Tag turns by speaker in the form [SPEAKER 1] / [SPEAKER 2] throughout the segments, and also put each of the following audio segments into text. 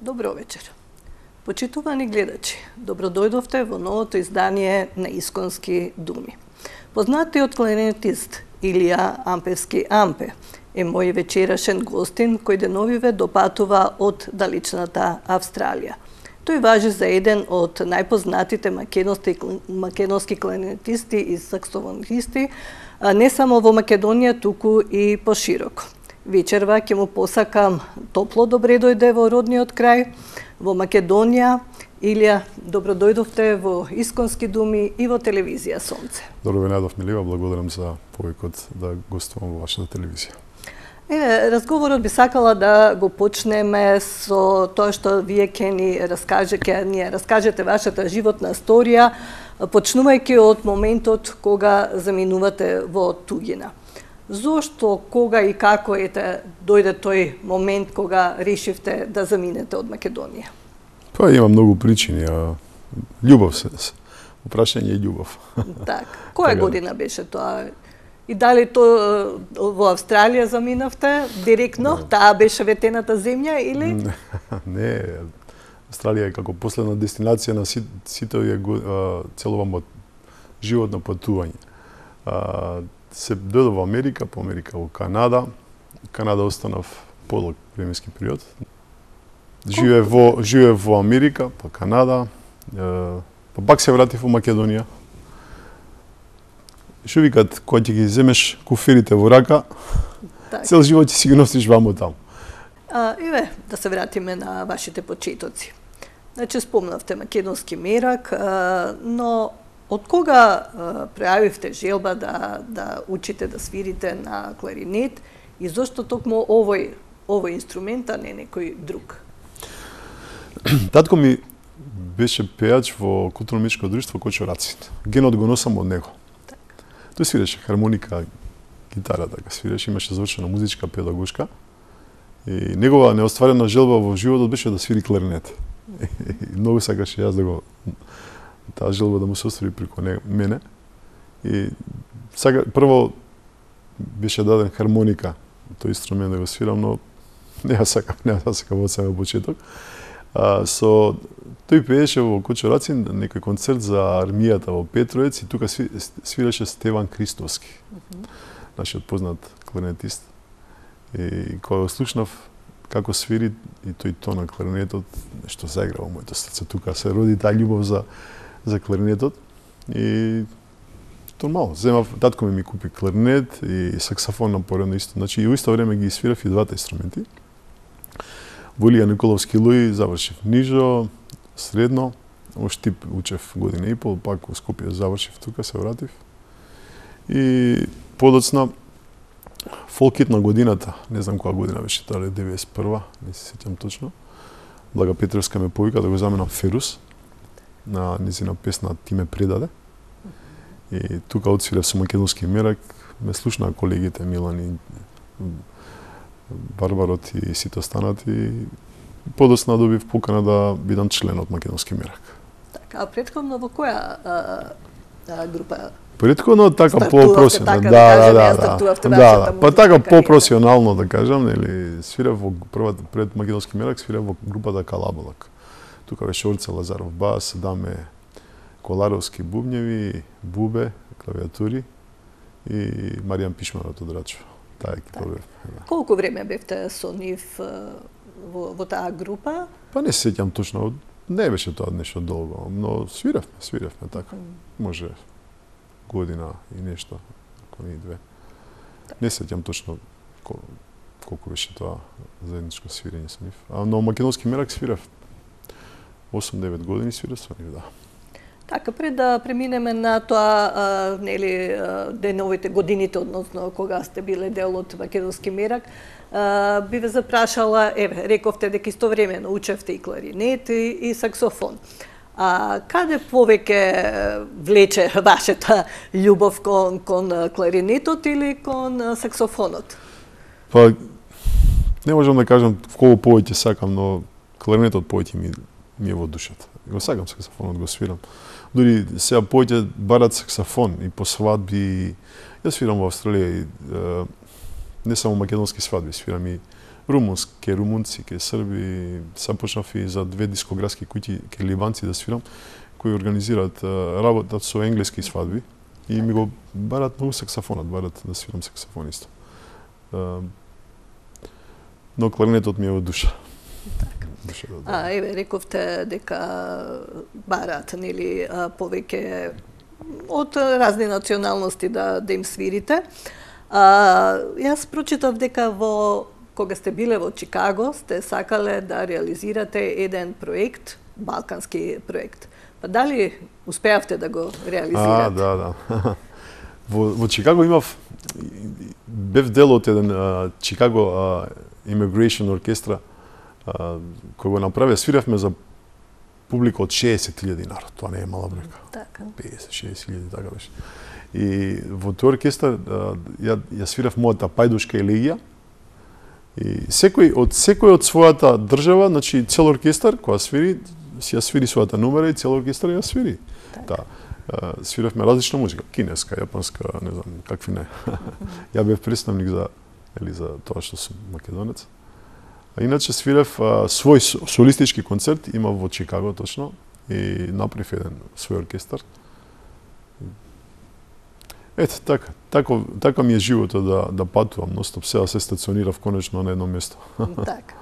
[SPEAKER 1] Добро вечер. Почитувани гледачи, добродојдовте во новото издание на Исконски думи. Познатиот кларинетист Илија Ампевски Ампе е мој вечерашен гостин кој деновиве допатува од далечната Австралија. Тој важи за еден од најпознатите македонски кларинетисти и саксофонисти, не само во Македонија, туку и пошироко. Вечерва ќе му посакам топло добре дојде во родниот крај, во Македонија. Илија, добродојдовте во Исконски думи и во телевизија Сонце.
[SPEAKER 2] Добро ве најдов, Милива, благодарам за повикот да гостувам во вашата телевизија.
[SPEAKER 1] Разговорот би сакала да го почнеме со тоа што вие ќе ни раскажете вашата животна историја, почнувајќи од моментот кога заминувате во туѓина. Зошто, кога и како дојде тој момент кога решивте да заминете од Македонија?
[SPEAKER 2] Па има многу причини, љубов се. Прашање е љубов.
[SPEAKER 1] Так. Која година беше тоа? И дали тоа во Австралија заминавте директно? Таа беше ветената земја или?
[SPEAKER 2] Не, Австралија е како последна дестинација на сите овие целово животно патување. Се дојдов во Америка, по Америка во Канада. Канада останав подолг временски период. Живеев во Америка, па Канада, па пак се вратив во Македонија. Што викат, кога ќе ги земеш куферите во рака, цел живот ќе си ги носиш вамо таму.
[SPEAKER 1] Да се вратиме на вашите почетоци. Значи, спомнавте македонски мерак, но од кога пројавивте желба да учите да свирите на кларинет и зошто токму овој инструмент, а не некој друг?
[SPEAKER 2] Татко ми беше пејач во културно-уметничко друштво Кочорацин. Генот го носам од него. Тој свиреше хармоника, гитара, така свиреше, имаше завршена музичка педагошка. И негова неостварена желба во животот беше да свири кларинет. И многу сакаше јас да таа желба да му се оствари преку мене. И прво беше даден хармоника, тој инструмент да го свирам, но не сакам од самиот почеток. Тој пееше во Кочорацин некој концерт за армијата во Петровец и тука свиреше Стеван Кристовски, нашиот познат кларинетист. И кога го слушнав како свири и тој тон на кларинетот, нешто заигра во моето срце. Тука се роди таа љубов за кларинетот и нормално. Татко ми купи кларинет и саксофон на поредно исто. Значи и во исто време ги свирав и двата инструменти. Во Илија Николовски Луи завршив нижо, средно, во Штип учев година и пол, пак во Скопје завршив тука, се вратив. И подоцна фолкит на годината, не знам која година беше, дали 91-а, не се сеќам точно. Блага Петровска ме повика да го заменам Ферус на низина песна Ти ме предаде. И тука отсвирев со македонски мерак, ме слушнаа колегите Милан и Барбарот и сите останати. И подоцна добив покана да бидам член од македонски мерак.
[SPEAKER 1] Така, а претходно во која група?
[SPEAKER 2] Претходно така по-професионално. Па така по-професионално да кажам, нели, свирев во пред македонски мерак, свирев во групата Калабалак. Тука беше Орце Лазаров бас, Даме Коларовски бубњеви, Бубе клавиатури и Маријан Пишманот од Рачево. Таа екипа бев.
[SPEAKER 1] Колку време бевте со нив во таа група?
[SPEAKER 2] Па не се сеќам точно, не беше тоа нешто долго, но свиревме така. Може година и нешто, ако не и две. Не сеќам точно колку беше тоа заедничко свирење со нив. Но македонски мерак свирев 8-9 години свирев со нив, да.
[SPEAKER 1] Така, пред да преминеме на тоа, деновите годините, односно кога сте биле дел од македонски мерак, би ве запрашала, рековте дека истовремено учевте и кларинет и саксофон. Каде повеќе влече вашата љубов кон кларинетот или кон саксофонот?
[SPEAKER 2] Па, не можам да кажам колку повеќе сакам, но кларинетот повеќе ми е во душата. Го сакам саксофонот, го свирам. Дури сега повеќе барат саксофон и по свадби. Јас свирам во Австралија и не само македонски свадби, свирам и румунски, румунци, ке срби, сам почнав и за 2 дискографски куќи ке ливанци да свирам, кои организираат работат со енглески свадби и ми го барат многу саксофонот, барат да свирам саксофон исто. Но кларнетот ми е од душа.
[SPEAKER 1] Така. Еве, рековте дека барат, нели, повеќе од разни националности да им свирите. Јас прочитав дека кога сте биле во Чикаго, сте сакале да реализирате еден проект, балкански проект. Па дали успеавте да го реализирате?
[SPEAKER 2] Да. Во Чикаго бев дел од еден Чикаго Immigration оркестра, кој го направи, свиравме за публика од 60.000 народ. Тоа не е мала бројка.
[SPEAKER 1] Така.
[SPEAKER 2] 50-60.000, така беше. И во тој оркестар ја свирав мојата пајдушка елегија. И секој од својата држава, значи цел оркестар која свири, ја свири својата номера и цел оркестар ја свири. Да. Свиравме различна музика, кинеска, јапонска, не знам, какви не. Ја бев представник за тоа што сум македонец. А иначе свирев свој солистички концерт, има во Чикаго точно, и направив еден свој оркестар. Ете, така ми е животот да патувам ностоп, сега се стационирав конечно на едно место.
[SPEAKER 1] Така.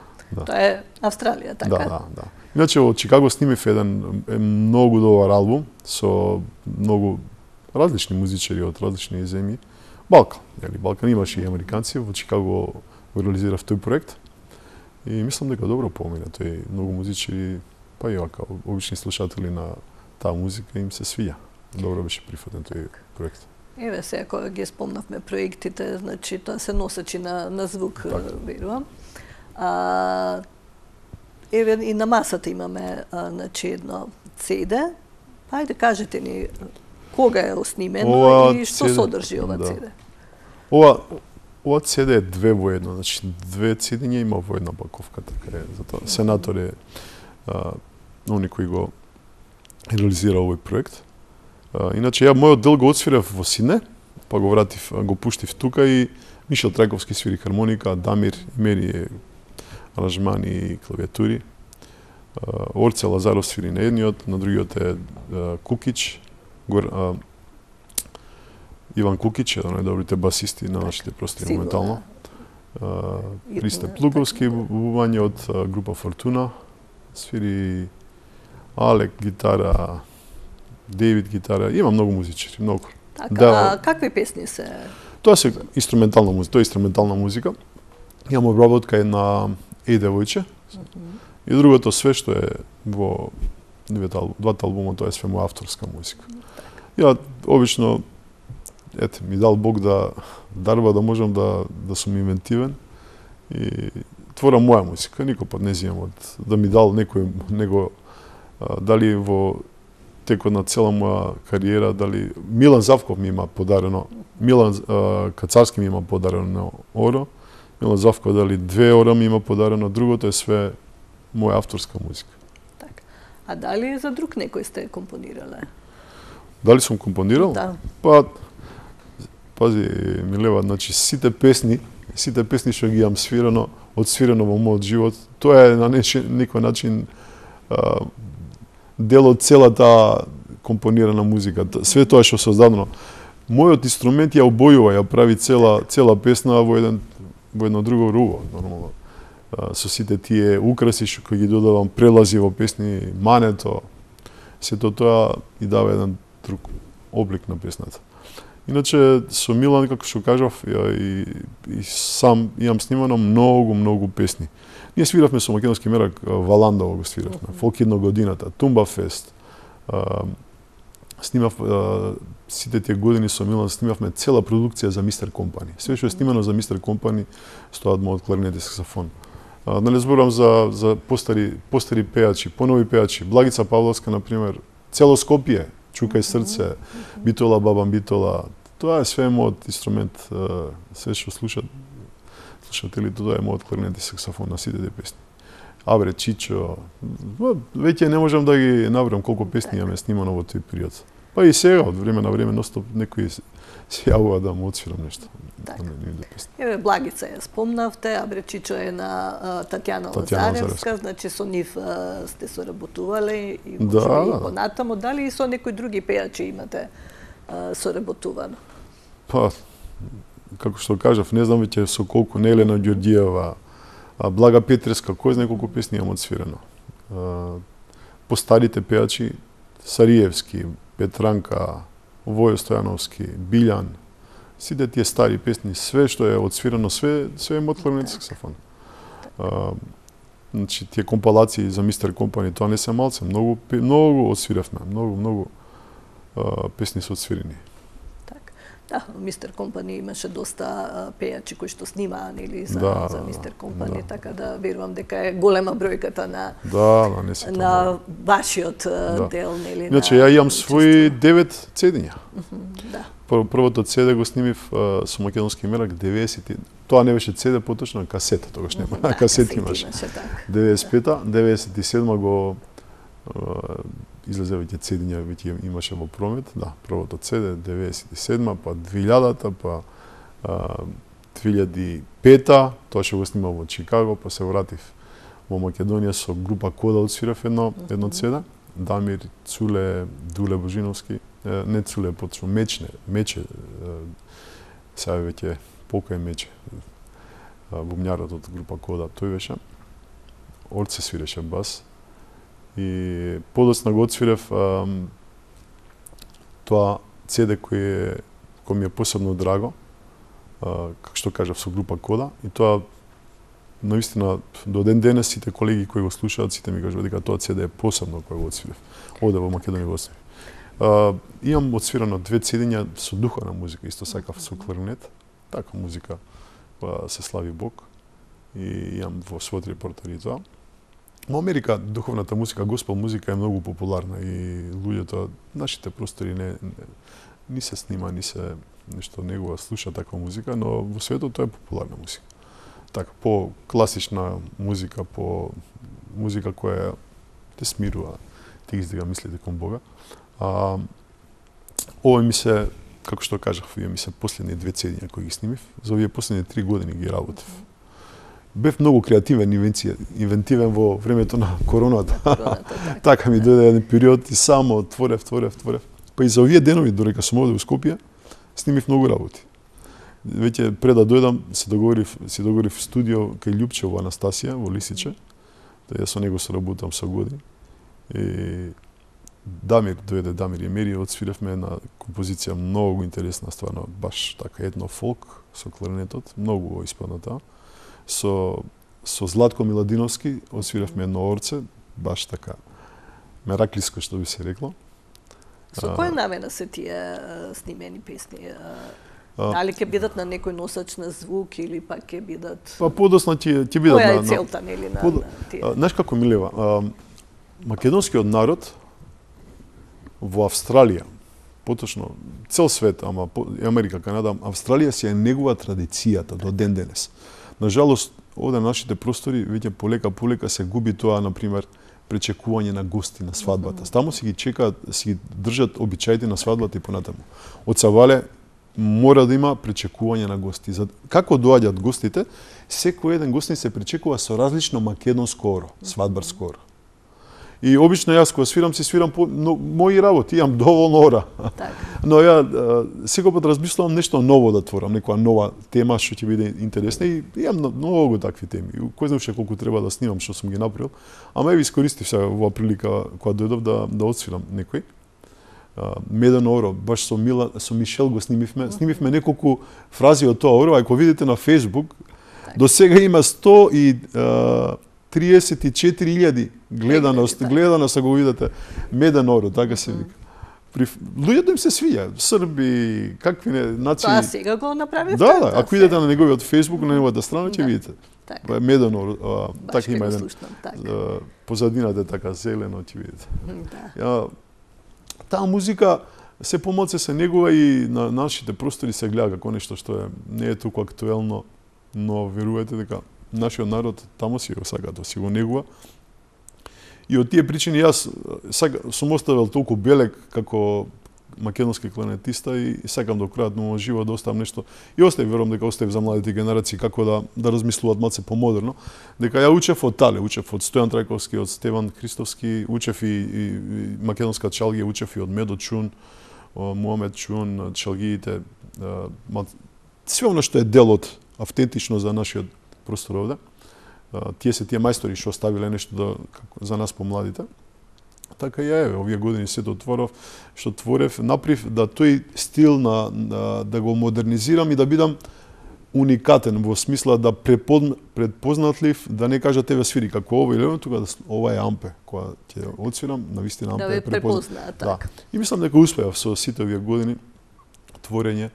[SPEAKER 1] Тоа е Австралија, така?
[SPEAKER 2] Да. Иначе во Чикаго снимив еден многу добар албум со многу различни музичари од различни земји. Балкан имаше и американци, во Чикаго го реализирав тој проект. И мислам дека добро помина, тој многу музичари, па и вака, обични слушатели на таа музика им се свија. Добро беше прифатен тој проект.
[SPEAKER 1] Еве сега кога ги спомнавме проектите, значи тоа се носечи на звук, верувам. Еве и на масата имаме значи едно CD. Ајде кажете ни кога е снимено и што содржи ова CD.
[SPEAKER 2] Ова CD е 2 во 1, значи 2 CD-ња има во една паковка, така е. Затоа Сенатор е оној кој го реализира овој проект. Иначе мојот дел го отсвирав во Сидне, па го пуштив тука и Мишел Трајковски свири хармоника, Дамир Мери аранжмани и клавиатури. Орце Лазаров свири на едниот, на другиот е Кукич, Иван Кукич, еден од најдобрите басисти на нашите простори моментално. Христе Плуковски, бубање од група Фортуна, свири Алек гитара, Дейвид гитара, има многу музичари, многу.
[SPEAKER 1] Така, какви песни се?
[SPEAKER 2] Тоа е инструментална музика. Имам обработка на Девојче. И другото све што е во двата албума, тоа е све моја авторска музика. Ја обично ми дал Бог да дарба да можам да сум инвентивен и творам моја музика, никој пат не земам да ми дал него дали во текот на цела моја кариера, дали Милан Завков ми има подарено, Милан Кацарски ми има подарено оро, Милан Завков дали 2 ора ми има подарено, другото е све моја авторска музика.
[SPEAKER 1] Така. А дали за друг некој сте компонирале?
[SPEAKER 2] Дали сум компонирал?
[SPEAKER 1] Да.
[SPEAKER 2] Па, пази, Милева, значи сите песни што ги имам одсвирено во мојот живот, тоа е на некој начин дел од целата компонирана музика. Све тоа што создадено. Мојот инструмент ја обојува, ја прави цела песна во едно друго руво, нормално. Со сите тие украси што кои ги додавам, прелази во песни, мането, сето тоа и дава еден друг облик на песната. Иначе со Милан, како што кажав, и сам имам снимано многу песни. Ние свиравме со македонски мерак Валандово го свиравме, Фолк една годината, Тумба Фест. Снимав сите тие години со Милан, снимавме цела продукција за Мистер Компани. Све што е снимано за Мистер Компани стоат мојот кларнет и саксофон. Да не зборам за постари пејачи, понови пејачи, Благица Павловска, например, цело Скопје, Чукај срце, Битола, Бабам Битола. Тоа е све мојот инструмент, све што слушателите, тоа е мојот кларнет и саксофон на сите тие песни. Абре, Чичо, веќе не можам да ги набрам колку песни имаме снимано во тој период. Па и сега, од време на време, ностоп некои се јавува да му отсвирам нешто.
[SPEAKER 1] Така. Еве, Благица ја спомнавте, Абречичо е на Татјана Лазаревска, значи со нив сте соработувале и може понатамо. Дали и со некои други пејачи имате соработувано?
[SPEAKER 2] Па, како што кажав, не знам веќе со колку, Елена Ѓорѓиева, Блага Петреска, кој знае колку песни имам отсвирено. По старите пејачи, Сариевски, Петранка, Војо Стојановски, Билјан, сите тие стари песни, све што е отсвирено, све е од кларнетски саксофон. Значи, тие компилации за Мистер Компани, тоа не се малце, многу отсвиравме, многу песни се отсвирени.
[SPEAKER 1] Да, Мистер Компани имаше доста пејачи кои што снимаа нели за Мистер Компани, така да верувам дека е голема бројката на вашиот дел нели.
[SPEAKER 2] Значи, ја имам своји 9 цедиња. Првото CD го снимив со македонски мерак 90. Тоа не беше CD, поточно касета, тогаш нема. Касети имаше. 95-та, 97-ма го излезе веќе цедиња, веќе имаше во промет, да, првото CD 97-ма, па 2000-та, па 2005-та, тоа што го снимав во Чикаго, па се вратив во Македонија со група Кода отсвирав едно CD, Дамир, Цуле, Дуле Божиновски, не Цуле, поточно Мече, сега веќе покај Мече, бумњарот од група Кода, тој беше. Орце свиреше бас. И подоцна го отсвирев тоа CD кој ми е посебно драго, како што кажав, со група Кода, и тоа наистина до ден денес сите колеги кои го слушаат, сите ми кажуваат дека тоа CD е посебно кој го отсвирев. Оде во Македонија го отсвирев. Имам отсвирано 2 CD со духовна музика, исто сакав со кларнет, така музика која се слави Бог, и имам во својот репертоар и тоа. Во Америка духовната музика, госпел музика е многу популарна и луѓето, нашите простори ни се снима, ни се нешто негова слуша таква музика, но во светот тоа е популарна музика. Така, по класична музика, по музика која те смирува, те издига мислите кон Бога. Ова ми се, како што кажав, ми се последни 2 цедиња кои ги снимив, за овие последни 3 години ги работев. Бев многу креативен, инвентивен во времето на короната. Така ми дојде еден период и само творев. Па и за овие денови, додека сум овде во Скопје, снимив многу работи. Веќе пред да дојдам, се договорив студио кај Љупче во Анастасија, во Лисиче. Ја со него соработам со години. И Дамир Емери, отсвиревме една композиција многу интересна, стварно, баш така едно фолк со кларнетот, многу испадна таа. Со Златко Миладиновски отсвиревме едно орце, баш така мераклиско, што би се рекло.
[SPEAKER 1] Со која намена се тие снимени песни? Дали ќе бидат на некој носач на звук или пак ќе бидат...
[SPEAKER 2] Па подосна ќе бидат на...
[SPEAKER 1] Која е целта, нели, на тие?
[SPEAKER 2] Знаеш како, Милева, македонскиот народ во Австралија, поточно цел свет, ама Америка, Канада, Австралија си е негова традицијата до ден денес. Нажалост, овде на нашите простори веќе полека се губи тоа, например, пречекување на гости на свадбата. Таму си ги чекаат, си ги држат обичаите на свадбата и понатаму. Од Савале мора да има пречекување на гости. Како доаѓаат гостите, секој еден гостин се пречекува со различно македонско оро, свадбарско оро. И обично јас кога свирам мои работи, имам доволно ора. Но ја секој пат размислувам нешто ново да творам, некоја нова тема што ќе биде интересна, и имам многу такви теми. Кој знае колку треба да снимам што сум ги направил, ама еве искористив сега оваа прилика кога дојдов да отсвирам некој. Медено оро, баш со Мишел го снимивме. Снимивме неколку фрази од тоа оро, а ако видите на Facebook, до сега има 134.000 гледаност, ако го видите, Меден оро, така се вика. Луѓето им се свиѓа, срби, какви не нации.
[SPEAKER 1] Тоа сега го направивте?
[SPEAKER 2] Да, ако идете на неговиот Facebook, на неговата страна, ќе видите. Меден оро, така има еден. Позадината е така зелено, ќе видите. Таа музика се помалце се негува и на нашите простори се гледа како нешто што не е толку актуелно, но верувате дека нашиот народ таму си го сака да си го негува. И од тие причини јас сум оставил толку белег како македонски кларнетиста и сакам до крајот на мојот живот да оставам нешто. И оставив, верувам дека оставив за младите генерации како да размислуваат малце помодерно. Дека ја учев од тале, учев од Стојан Трајковски, од Стеван Христовски, учев и македонска чалгија, учев и од Медо Чун, Муамед Чун, чалгиите, све оно што е дел од автентично за нашиот простор овде. Тие се тие мајстори што оставиле нешто за нас помладите. Така и еве, овие години се отворов, што творев, направив да тој стил да го модернизирам и да бидам уникатен во смисла да предпознатлив, да не кажа тебе свири како ова или тука ова е ампе, која ќе отсвирам, навистина ампе
[SPEAKER 1] да е препозна, така.
[SPEAKER 2] Да. И мислам дека успеав со сите овие години творење.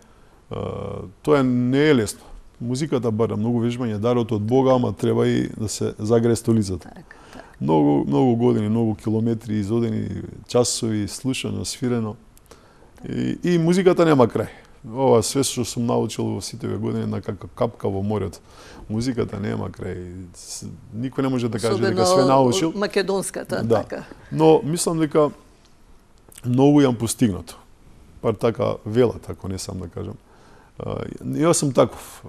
[SPEAKER 2] Тоа не е лесно. Музиката бара многу вежбање, дарот од Бога, ама треба и да се загрее столицата.
[SPEAKER 1] Так.
[SPEAKER 2] Многу години, многу километри изодени, часови, слушано, свирено. И музиката нема крај. Ова све што сум научил во сите овие години на капка во морето. Музиката нема крај. Никој не може да каже дека све научил.
[SPEAKER 1] Македонската,
[SPEAKER 2] да.
[SPEAKER 1] така.
[SPEAKER 2] Но мислам дека многу јам постигнато. Пар така велат, ако не сам да кажам. Јас сум таков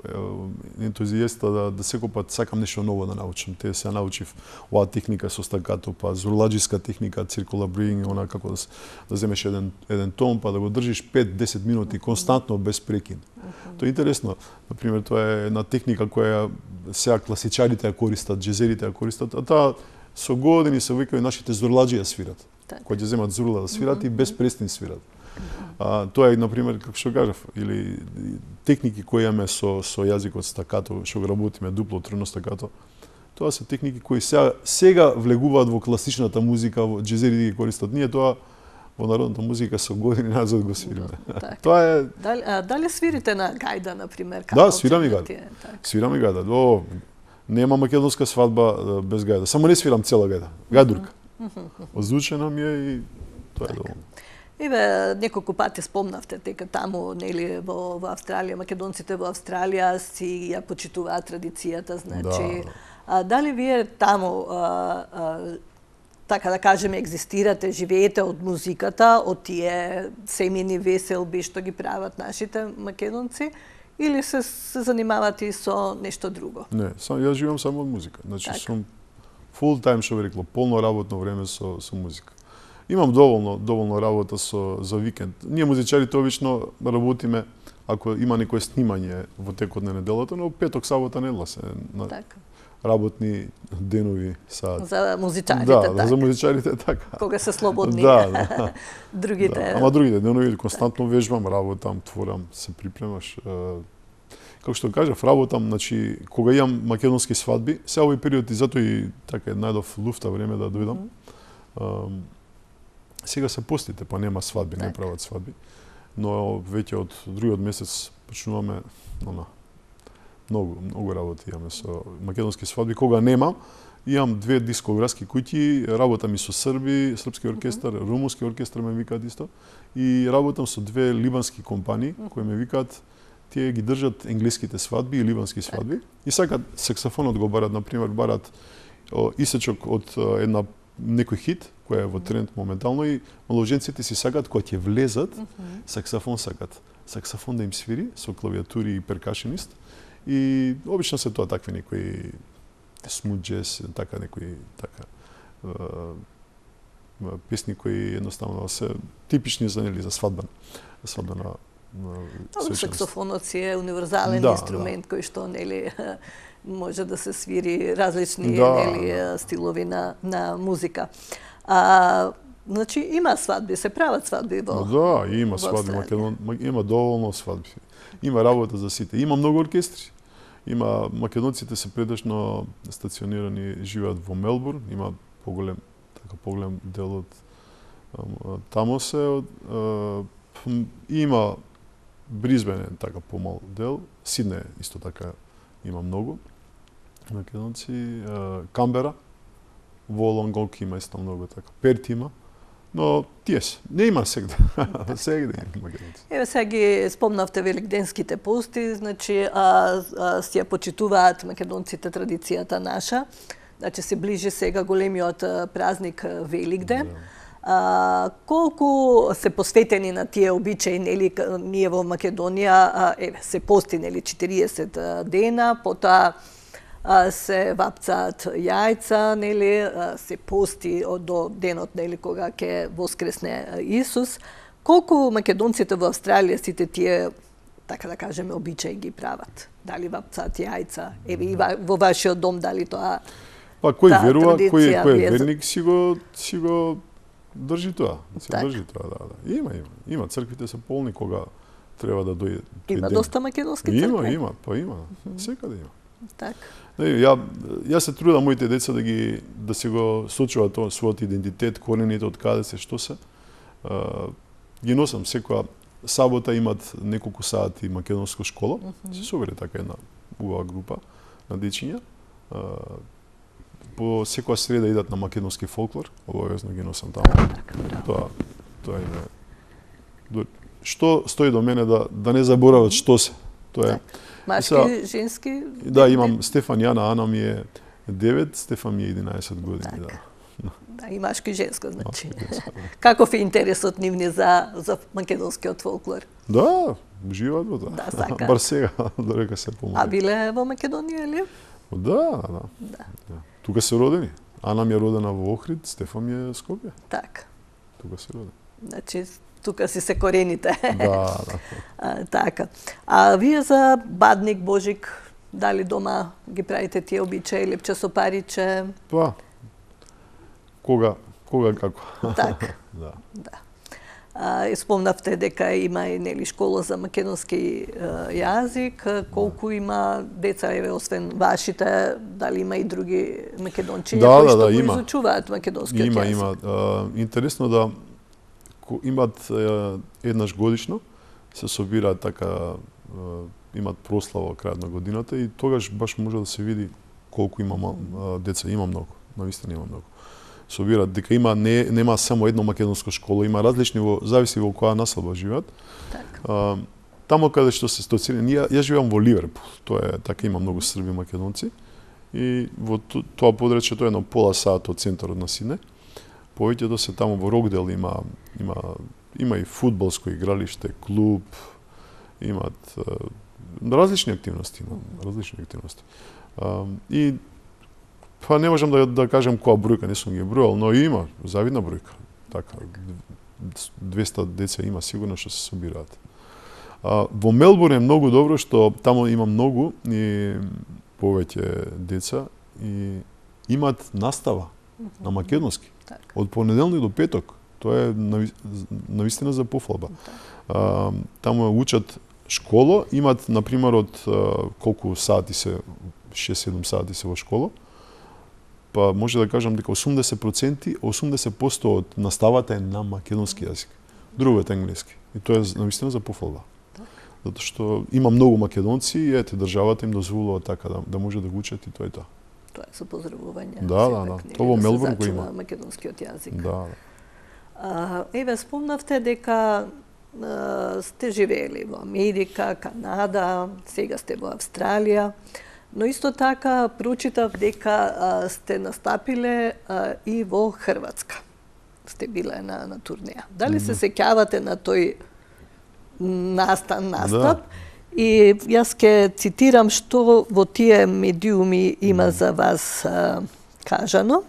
[SPEAKER 2] ентузијаста да секој пат сакам нешто ново да научам. Те се научив оваа техника со стакато, па зурладжиска техника, circular breathing, она како да земеш еден тон, па да го држиш 5-10 минути константно без прекин. Тоа е интересно. Например, тоа е една техника која сега класичарите ја користат, джезерите ја користат, а таа со години се викај нашите зурладжи ја свират. Кои ќе земат зурла да свират и без престин свират. Тоа е, например, како што кажав, или техники кои имаме со јазикот стакато, што го работиме дупло трно стакато. Тоа се техники кои сега влегуваат во класичната музика, во джезерите ги користат. Ние тоа во народната музика со години назад го свириме. Тоа е.
[SPEAKER 1] Дали свирите на гајда, например?
[SPEAKER 2] Да, свирам и гајда. Свирам и гајда. Нема македонска свадба без гајда. Само не свирам цела гајда. Гајдурка. Озвучена ми е и тоа е доволно.
[SPEAKER 1] Еве, неколку пати спомнавте дека таму, нели, во Австралија, македонците во Австралија си ја почитуваат традицијата, значи, дали вие таму, така да кажеме, екзистирате, живеете од музиката, од тие семени веселби што ги прават нашите македонци, или се занимавате и со нешто друго?
[SPEAKER 2] Не, јас живеам само од музика. Значи, сум full time, што би рекло, полно работно време со музика. Имам доволно работа за викенд. Ние музичарите обично работиме ако има некое снимање во текот на неделата, но петок, сабота, недела се работни денови саат.
[SPEAKER 1] За музичарите,
[SPEAKER 2] така. За музичарите така.
[SPEAKER 1] Кога се слободни.
[SPEAKER 2] Да.
[SPEAKER 1] Другите.
[SPEAKER 2] Ама другите денови константно вежбам, работам, творам, се припремаш. Како што кажав, работам, значи, кога имам македонски свадби, сега овој период и затоа и така најдов луфта време да дојдам. Сега се постите, па нема свадби, не прават свадби. Но веќе од другиот месец почнуваме многу работи имаме со македонски свадби. Кога немам, имам 2 дискографски куќи, работам и со српски оркестар, румунски оркестар ме викаат исто, и работам со 2 либански компании кои ме викаат, тие ги држат енглеските свадби и либански свадби. И сакат саксофонот го барат, например, барат исечок од некој хит, кој е во тренд моментално, и малоуженците си сакат, кога ќе влезат, саксофон сакат. Саксофон да им свири со клавиатури и перкашенист. И обично се тоа такви некои смут джез, така некои песни кои едноставно се типични за свадбена
[SPEAKER 1] саксофонот си е универзален инструмент кој што нели може да се свири различни нели стилови на музика. Значи има свадби, се прават свадби во
[SPEAKER 2] има свадби, има доволно свадби. Има работа за сите. Има многу оркестри. Има македонците се предишно стационирани, живеат во Мелбурн, има поголем дел од таму се има Бризбен така помал дел, Сиднеј исто така има многу македонци, Камбера, во Лонгонг има исто многу така, Перт има, но тие се, не има сегде, сегде има македонци.
[SPEAKER 1] Еве сега ги спомнавте великденските пости, значи си ја почитуваат македонците традицијата наша, значи се ближи сега големиот празник Великден. Колку се посветени на тие обичаи, нели, ние во Македонија, се пости, нели, 40 дена, потоа се вапцаат јајца, нели, се пости до денот, нели, кога ќе воскресне Исус. Колку македонците во Австралија сите тие, така да кажеме, обичаи ги прават? Дали вапцаат јајца? Еве и во вашиот дом дали тоа?
[SPEAKER 2] Па кој верува, кој е верник си го држи тоа. Држи тоа, да. Има црквите се полни кога треба да дојде.
[SPEAKER 1] Има доста македонски цркви.
[SPEAKER 2] Има. Секаде има.
[SPEAKER 1] Так.
[SPEAKER 2] Јас се трудам моите деца да се го сочуваат својот идентитет, корените од каде се, што се. Ги носам секоја сабота, имат неколку сати македонска школа. Се собере така една убава група на дечиња. По секоја среда идат на македонски фолклор, обавезно ги носам таму. Тоа е. Што стои до мене да не заборават што се. Тоа е.
[SPEAKER 1] Машки, женски?
[SPEAKER 2] Да, имам Стефан, Јана, Ана ми е 9, Стефан ми е 11 години,
[SPEAKER 1] Да, и машки и женско, значи. Каков е интересот нивни за македонскиот фолклор?
[SPEAKER 2] Да, уживаат во тоа.
[SPEAKER 1] Да, сака.
[SPEAKER 2] Бар сега, дорека се помоли.
[SPEAKER 1] А биле во Македонија, или?
[SPEAKER 2] Да. Тука се родени. Ана ми е родена во Охрид, Стефан ми е Скопје.
[SPEAKER 1] Така.
[SPEAKER 2] Тука се родени.
[SPEAKER 1] Значи, тука си се корените.
[SPEAKER 2] Да.
[SPEAKER 1] Така. А вие за Бадник, Божик, дали дома ги правите тие обичаи, лепче со париче?
[SPEAKER 2] Па, кога како.
[SPEAKER 1] Така.
[SPEAKER 2] Да.
[SPEAKER 1] Спомнавте дека има и нели школа за македонски јазик. Колку има деца, еве, освен вашите, дали има и други македончиња кои што го изучуваат македонскиот јазик?
[SPEAKER 2] Има. Интересно да имат еднаш годишно, се собираат така, имат прослава крајот на годината и тогаш баш може да се види колку има деца. Има многу, навистина има многу. Собираат дека нема само едно македонско школа, има различни, зависи во која населба живеат.
[SPEAKER 1] Так.
[SPEAKER 2] Тамо каде што се стоцирани, јас живеам во Ливерпул, тоа е така, има многу срби македонци и во тоа подречје тоа е едно пола сат од центарот на Сиднеј. Повеќето се таму во Рокдел има и фудбалско игралиште, клуб, имат различни активности, И па не можам да кажам која бројка, не сум ги бројал, но има завидна бројка. Така 200 деца има сигурно што се собираат. Во Мелбурн е многу добро што таму има многу и повеќе деца и имат настава на македонски. Од понеделник до петок. Тоа е навистина за пофалба. Таму учат школа, имат, например, од колку сати се, 6-7 сати се во школа, па може да кажам дека 80% од наставата е на македонски јазик. Друго е англиски. И тоа е навистина за пофалба. Затоа што има многу македонци и ете државата им дозволува така да може да го учат и тоа е тоа.
[SPEAKER 1] Тоа е со поздравување.
[SPEAKER 2] Да. Тоа во Мелбурн го има.
[SPEAKER 1] Македонскиот јазик.
[SPEAKER 2] Да.
[SPEAKER 1] Еве, спомнавте дека сте живеели во Америка, Канада, сега сте во Австралија, но исто така прочитав дека сте настапиле и во Хрватска. Сте биле на турнеја. Дали се сеќавате на тој настап?
[SPEAKER 2] Да.
[SPEAKER 1] И јас ќе цитирам што во тие медиуми има за вас кажано.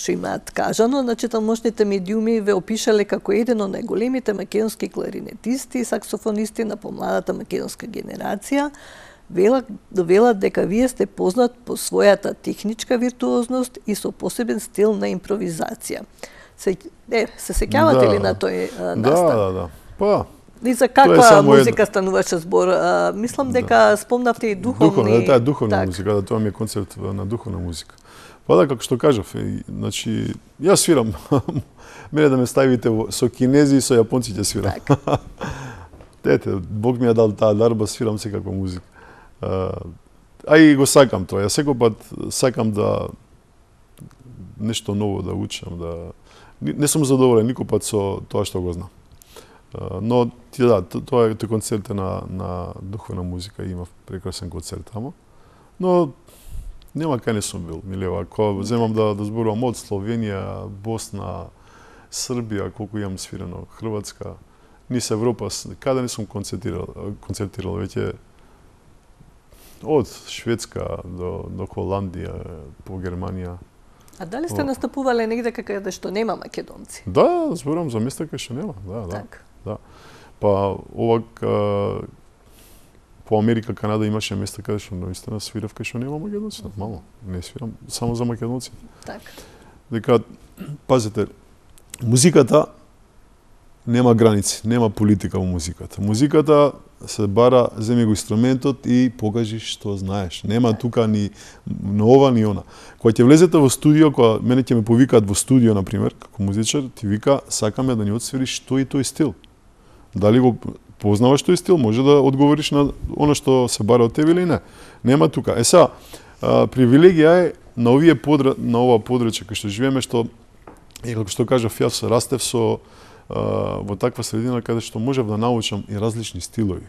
[SPEAKER 1] Што имаат кажано, значи тамошните медиуми ве опишале како еден од најголемите македонски кларинетисти и саксофонисти на помладата македонска генерација. Велат дека вие сте познат по својата техничка виртуозност и со посебен стил на импровизација. Се сеќавате ли на тој настап?
[SPEAKER 2] Да. Па,
[SPEAKER 1] и за каква музика стануваше збор? Мислам дека спомнавте и духовни...
[SPEAKER 2] Таа е духовна музика, да, тоа ми е концерт на духовна музика. Па да, како што кажав, значи, јас свирам. Мене да ме ставите со кинези и со јапонци ќе свирам. Ете, Бог ми ја дал таа дарба, свирам секаква музика. А и го сакам тоа. Јас секој пат сакам да нешто ново да учам, не сум задоволен никој пат со тоа што го знам. Но тоа е концерт на духовна музика, имав прекрасен концерт тамо. Но нема кај не сум бил, милева. Ако земам да зборувам од Словенија, Босна, Србија, колку имам свирено, Хрватска, низ Европа, каде не сум концертирал веќе од Шведска до Холандија, по Германија.
[SPEAKER 1] А дали сте настапувале негде каде што нема македонци?
[SPEAKER 2] Да, зборам за места кај што нема, да. Па овак по Америка, Канада имаше места каде што наистина свирав кај што нема македонци, нормално. Не свирам само за македонци.
[SPEAKER 1] Така.
[SPEAKER 2] Дека пазете, музиката нема граници, нема политика во музиката. Музиката се бара, земи го инструментот и покажи што знаеш. Нема тука ни ова ни она. Кога ќе влезете во студио, кога мене ќе ме повикаат во студио на пример, како музичар, ти вика сакаме да ни отсвириш тој и тој стил. Дали го познаваш тој стил, може да одговориш на она што се бара од тебе или не. Нема тука. Сега, привилегија е на ова подрачје кај што живееме, што и како што кажав, јас растев во таква средина каде што можев да научам и различни стилови.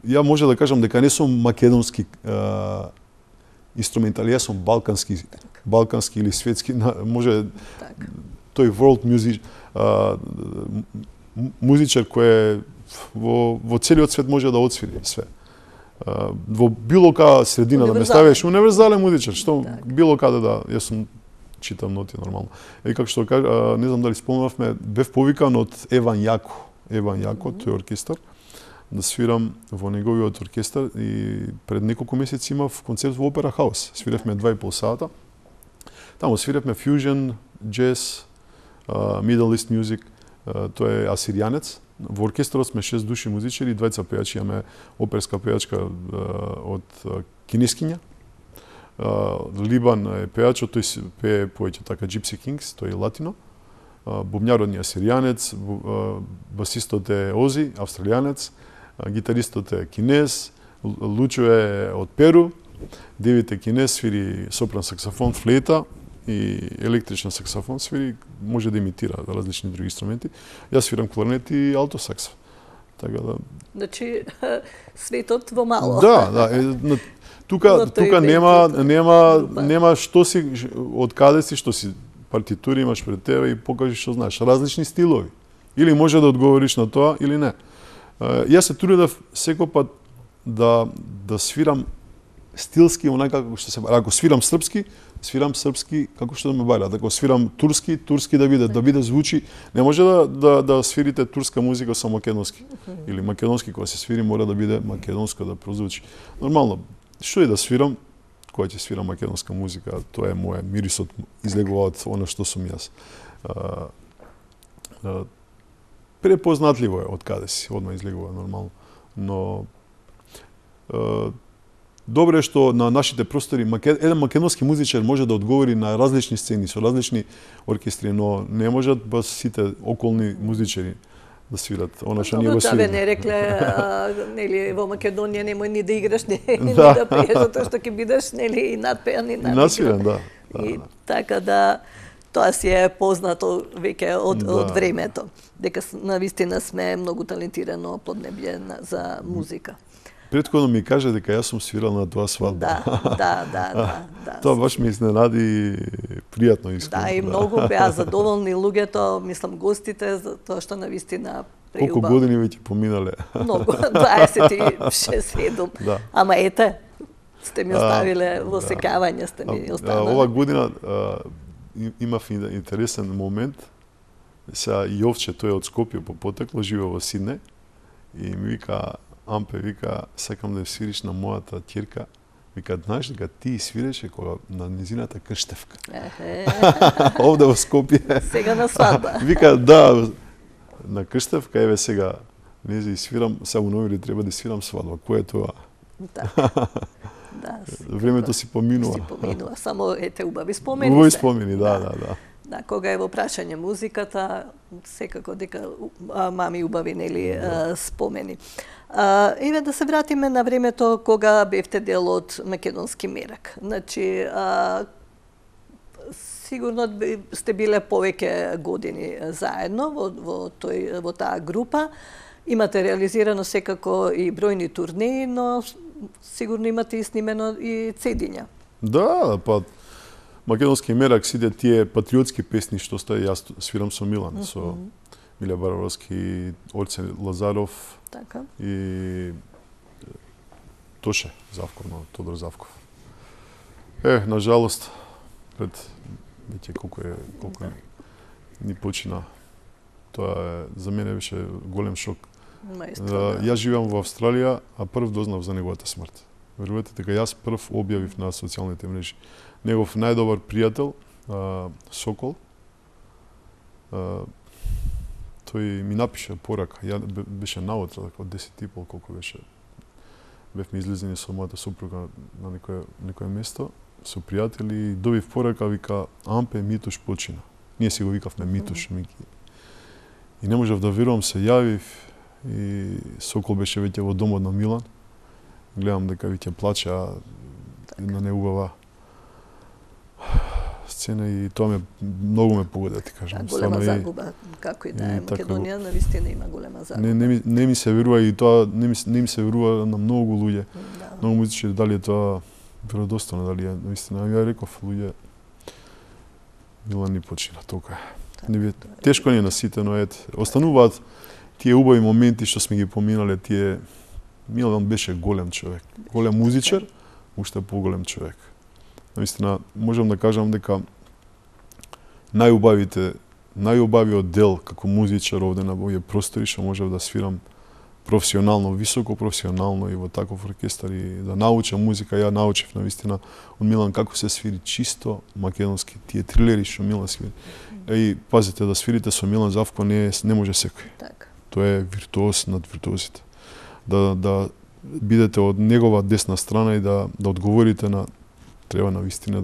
[SPEAKER 2] Ја може да кажам дека не сум македонски инструментали, јас сум балкански или светски, може тој world music музичар кој во целиот свет може да отсвири све. Во било каја средина да ме ставиш, универзален музичар, што било каде да, јас сум читам ноти нормално. И како што кажа, не знам дали спомнавме, бев повикан од Еван Јако. Еван Јако, тој оркестар, да свирам во неговиот оркестар и пред неколку месеци имав концерт во Опера Хаус. Свиревме 2,5 сата. Таму свиревме фьюжн, джез, Middle East music, тој е асиријанец. Во оркестрот сме 6 души музичари, 2 пејачи, имаме оперска пејачка од кинескиња. Либан е пејачот, тој пее поеќе така Gypsy Kings, тој е латино. Бубњарот ни е асиријанец, басистот е Ози, австралијанец, гитаристот е кинез, Лучо е од Перу, Девид е кинез, свири сопран саксофон, флейта и електричен саксофон, свири, може да имитира различни други инструменти. Јас свирам кларнет и алто сакс. Така да.
[SPEAKER 1] Значи светот во мало.
[SPEAKER 2] Да. Тука нема што си, од каде си, што си партитури имаш пред тебе и покажи што знаеш. Различни стилови. Или може да одговориш на тоа, или не. Јас се трудев секој пат да свирам стилски, онака како што се бара. Ако свирам српски како што ме бара. Ако свирам турски да биде звучи. Не може да свирите турска музика со македонски. Или македонски кога се свири мора да биде македонско да прозвучи. Нормално. Што и да свирам, кога ќе свирам македонска музика, тоа е моја мирисот, излегува од она што сум јас. Препознатливо е од каде си, одма излегува нормално. Но добро е што на нашите простори еден македонски музичар може да одговори на различни сцени со различни оркестри, но не можат бас сите околни музичари да свират. Она што ние го свираме.
[SPEAKER 1] Не рекле, нели во Македонија немој ни да играш, ни да пееш, затоа што ќе бидеш нели и надпеан и
[SPEAKER 2] насвирен, да.
[SPEAKER 1] И така да тоа си е познато веќе од времето, дека навистина сме многу талентирано поднебје за музика.
[SPEAKER 2] Претходно ми кажа дека јас сум свирал на тоа свадба.
[SPEAKER 1] Да.
[SPEAKER 2] Тоа баш ме изненади пријатно искрено.
[SPEAKER 1] Да, и многу беа задоволни луѓето, мислам гостите, за тоа што навистина преубаво.
[SPEAKER 2] Колку години веќе поминале?
[SPEAKER 1] Многу, 26-7. Ама ете, сте ми оставиле во секавање, сте ми останали.
[SPEAKER 2] Ова година имав интересен момент. Сега Јовче, тој од Скопје по потекло, живе во Сиднеј и ми вика, Ампе, вика, сакам да свириш на мојата ќерка. Вика, знаеш дека ти свиреше кога на незината крштевка. Овде во Скопје.
[SPEAKER 1] Сега на свадба.
[SPEAKER 2] Вика, да, на крштевка, еве сега, не зи свирам, сега у ноември треба да свирам свадба. Кој е тоа?
[SPEAKER 1] Да.
[SPEAKER 2] Времето си поминува.
[SPEAKER 1] Само ете убави спомени.
[SPEAKER 2] Убави спомени, да.
[SPEAKER 1] Да, кога е во прашање музиката, секако дека мами убави нели спомени. Еве да се вратиме на времето кога бевте дел од Македонски мерак. Значи, сигурно сте биле повеќе години заедно во таа група. Имате реализирано секако и бројни турнеи, но сигурно имате и снимено и цедиња.
[SPEAKER 2] Да, па македонски мерак, сите тие патриотски песни што стои, јас свирам со Милан, со Миле Барбарски, Орце Лазаров,
[SPEAKER 1] Така.
[SPEAKER 2] и Тоше Завков, Тодор Завков. На жалост, пред веќе колку ни почина. Тоа за мене беше голем шок. Јас живеам во Австралија, а прв дознав за неговата смрт. Верувате дека јас прв објавив на социјалните мрежи. Негов најдобар пријател, Сокол, тој ми напиша порака. Ја беше наутро, од 10:30 колку беше. Бевме излезени со мојата супруга на некое место, со пријатели, и добив порака, вика, Ампе, Митуш почина. Ние си го викавме Митуш, Мики. И не можев да верувам, се јавив, и Сокол беше веќе во домот на Милан. Гледам дека веќе плача на неубава сцена, и тоа многу ме погода, ти кажам.
[SPEAKER 1] Голема загуба, како и да е, Македонија навистина има голема загуба.
[SPEAKER 2] Не ми се верува, и тоа не ми се верува на многу луѓе. Многу музичари, дали е тоа веродостојно, дали е навистина. Ја реков, луѓе, Милан ни почина, тока е. Тешко ни е на сите, но остануваат тие убави моменти што сме ги поминале, тие. Милан беше голем човек, голем музичар, уште поголем човек. Наистина, можам да кажам дека најубавиот дел како музичар овде на овие простори што можев да свирам професионално, високо професионално и во таков оркестар, и да научам музика. Ја научив навистина од Милан како се свири чисто македонски, тие трилери што Милан свири. И пазите, да свирите со Милан Завко не може секој.
[SPEAKER 1] Така.
[SPEAKER 2] Тоа е виртуоз над виртуозите. Да бидете од негова десна страна и да одговорите на, треба навистина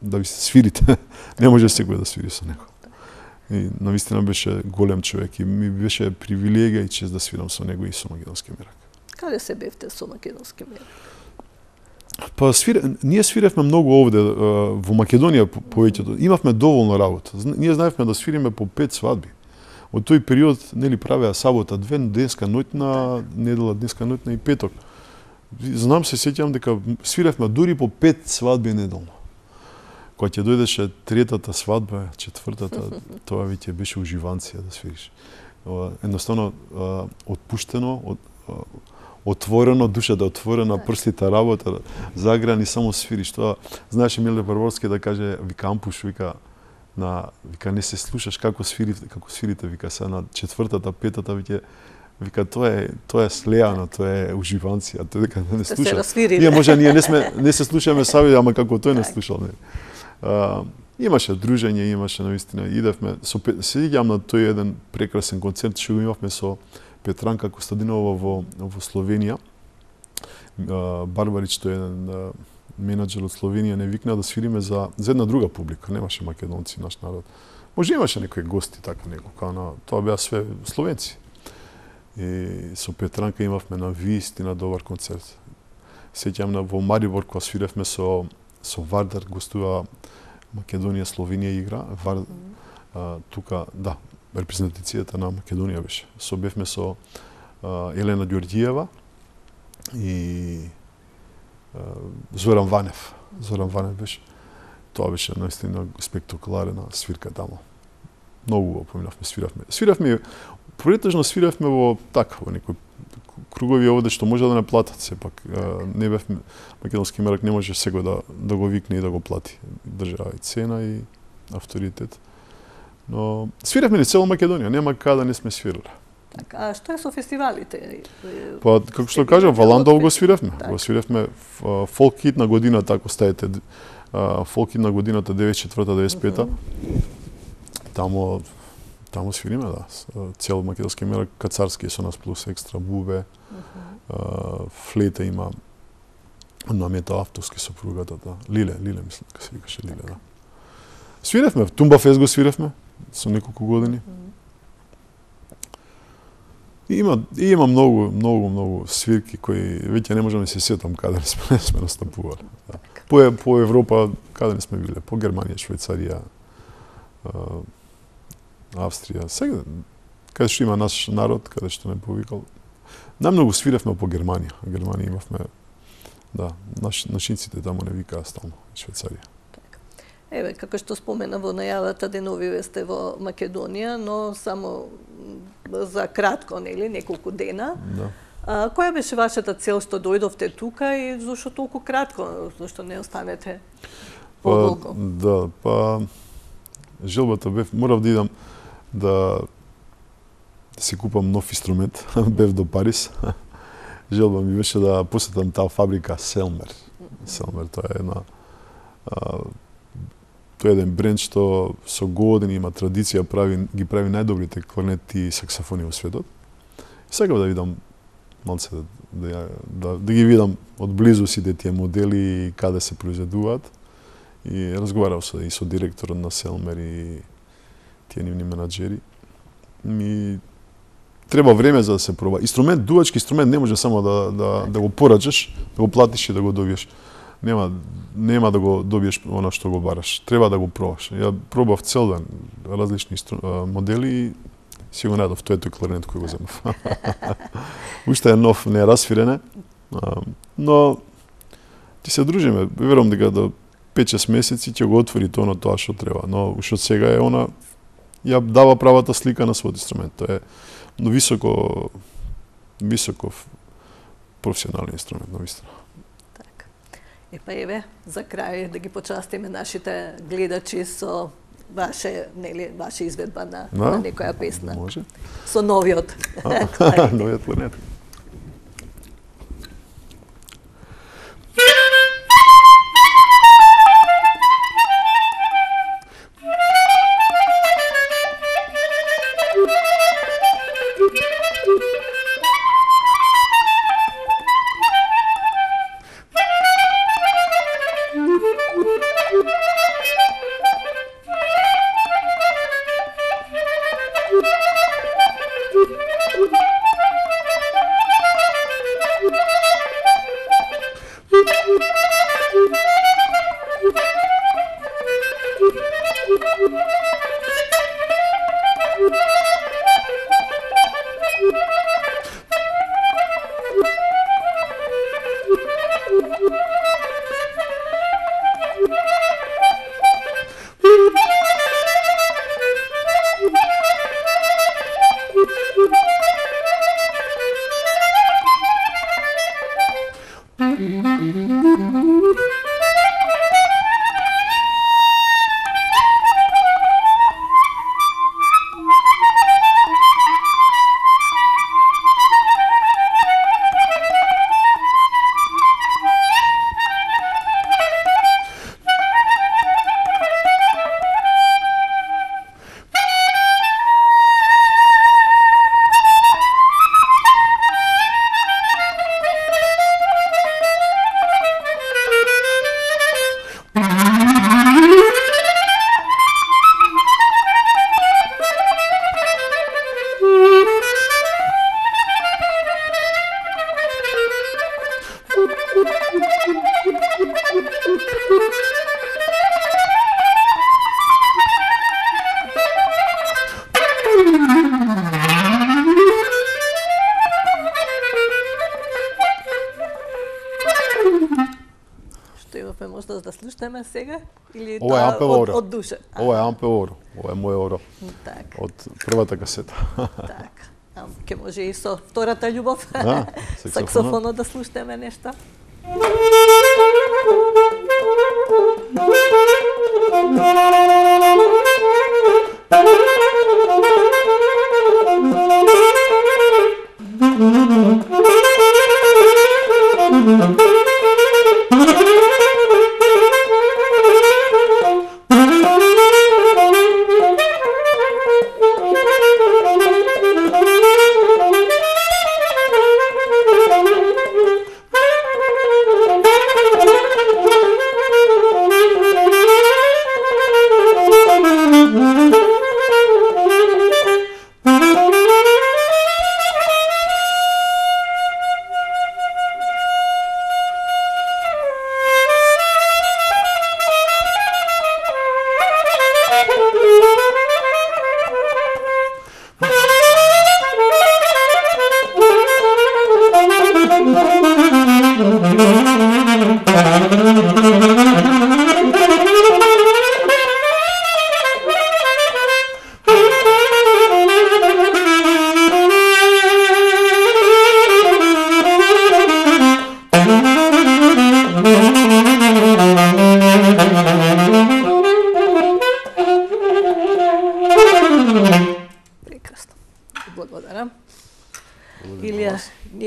[SPEAKER 2] да ви се свирите. Не може секој да свири со него. И навистина беше голем човек, и ми беше привилегија и чест да свирам со него и со македонски мерак.
[SPEAKER 1] Каде се бевте со македонски мерак?
[SPEAKER 2] Па ние свиревме многу овде во Македонија повеќето. Имавме доволно работа. Ние знаевме да свириме по 5 свадби. Од тој период нели правеа сабота, денеска ноќна, недела денеска ноќна и петок. Знам, се сеќавам дека свиревме дури по 5 свадби неделно. Кога ќе дојдеше третата свадба, четвртата, тоа веќе беше уживанција да свириш. Едноставно отпуштено, отворено, душата отворена, прстите работа, заграни, само свириш. Тоа знаеше Миле Барбарски да каже, вика Ампуш, вика не се слушаш како свирите, вика се на четвртата, петата, вика тоа е слеано, тоа е уживанција, тоа дека не слушаш. Ние може не се слушаме саби, ама како тој не слушал, не. Имаше дружење, имаше навистина, идевме, се сеќавам на тој еден прекрасен концерт што го имавме со Петранка Костадинова во Словенија. Барбарич, тој еден менаџер од Словенија, не викна да свириме за една друга публика, немаше македонци, наш народ. Може имаше некои гости така некој, тоа беа све словенци. И со Петранка имавме на вистина добар концерт. Сеќавам на во Марибор кога свиревме со Вардар, гостува Македонија, Словенија игра. Тука, да, репрезентацијата на Македонија беше. Бевме со Елена Ѓорѓиева и Зоран Ванев. Зоран Ванев беше. Тоа беше наистина спектакуларна свирка тамо. Многу го поминавме, свиравме. Претежно свиравме во некои кругови овде што може да не платат сепак. Не бев македонски мерак, не може секој да го викне и да го плати. Држава и цена и авторитет. Но свиравме ни цела Македонија, нема каде не сме свирали.
[SPEAKER 1] Така, а што е со фестивалите?
[SPEAKER 2] Па, како што кажам, Валандов го свиравме. Го свиравме фолк хит на годината, ако ставите фолк хит на годината 94-95. Тамо свириме, да. Цел македонски мерак, Кацарски со нас плюс екстра, бубе, флейта има, намета авторски сопругата, да. Лиле, мислам, дека се викаше Лиле, да. Свиревме, Тумба Фест го свиревме, со неколку години. Има многу свирки кои веќе не можам да се сетам каде не сме настапували. Да. По Европа, каде не сме биле, по Германија, Швајцарија, Австрија, сега, каде што има наш народ, каде што не повикал. Најмногу свиревме по Германија. Германија имавме, да, нашинците тамо не викаа стално, Швајцарија.
[SPEAKER 1] Еве, како што спомена во најавата, деновиве сте во Македонија, но само за кратко, нели, неколку дена.
[SPEAKER 2] Да.
[SPEAKER 1] Која беше вашата цел што дојдовте тука и зошто толку кратко, зошто не останете подолго?
[SPEAKER 2] Желбата бев, морав да идам да си купам нов инструмент, бев до Париз. Желба ми беше да посетам таа фабрика Селмер. Селмер, тоа е тоа е еден бренд што со години има традиција, ги прави најдобрите кларнети и саксофони во светот. И сакав да видам малце да ги видам од близу сите тие модели и каде се произведуваат. И разговарав и со директорот на Селмер и тие нивни менаџери. Ми треба време за да се проба. Дувачки инструмент не може само да го порачаш, да го платиш и да го добиеш. Нема да го добиеш она што го бараш. Треба да го пробаш. Ја пробав цел ден различни модели и си го најдов тој кларнет кој го земав. Уште е нов, не е расфирене, но ти се дружиме. Верувам дека до 5-6 месеци ќе го отвори тоа што треба. Но уште од сега е она ја дава правата слика на својот инструмент. Тоа е високо професионален инструмент, навистина.
[SPEAKER 1] Така. Епа еве, за крај да ги почастиме нашите гледачи со ваше изведба на некоја песна.
[SPEAKER 2] Може.
[SPEAKER 1] Со новиот.
[SPEAKER 2] Новиот кларнет.
[SPEAKER 1] Да слушнеме сега или
[SPEAKER 2] ова е Ампел
[SPEAKER 1] од душа?
[SPEAKER 2] Ова е Ампел Оро. Ова е мој Оро.
[SPEAKER 1] Так.
[SPEAKER 2] Од првата касета.
[SPEAKER 1] Так. Ке може и со втората љубов.
[SPEAKER 2] Саксофонот
[SPEAKER 1] да слушнеме нешто.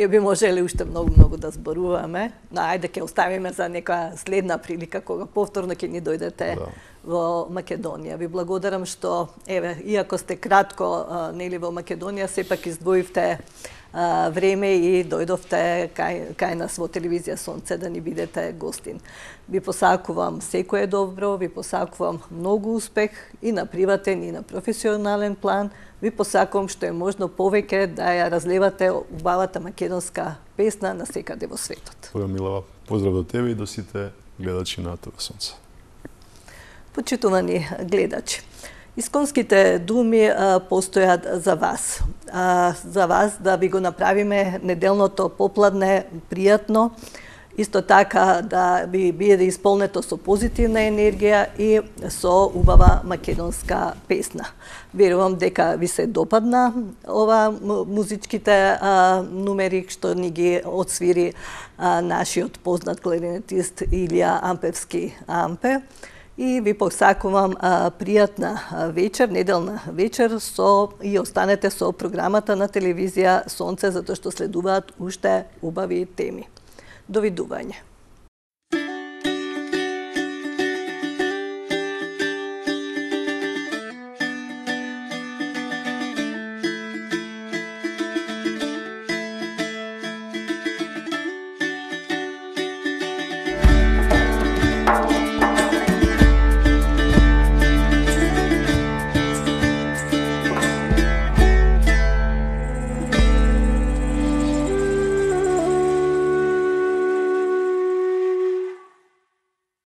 [SPEAKER 1] ние би можеле уште многу да зборуваме, но ајде ќе оставиме за нека следна прилика кога повторно ќе ни дојдете во Македонија. Ви благодарам што еве иако сте кратко нели во Македонија, сепак издвоивте време и дојдовте кај нас во телевизија Сонце да ни бидете гостин. Ви посакувам секое добро, ви посакувам многу успех и на приватен и на професионален план. Ви посакувам што е можно повеќе да ја разлевате убавата македонска песна на секаде во светот.
[SPEAKER 2] Милава, поздрав до тебе и до сите гледачи на ТВ Сонце.
[SPEAKER 1] Почитувани гледачи, исконските думи постојат за вас да ви го направиме неделното попладне пријатно, исто така да ви биде исполнето со позитивна енергија и со убава македонска песна. Верувам дека ви се допадна ова музичките нумери што ни ги отсвири нашиот познат кларинетист Илија Ампевски Ампе. И ви посакувам пријатна вечер, неделна вечер и останете со програмата на телевизија Сонце затоа што следуваат уште убави теми. Довидување.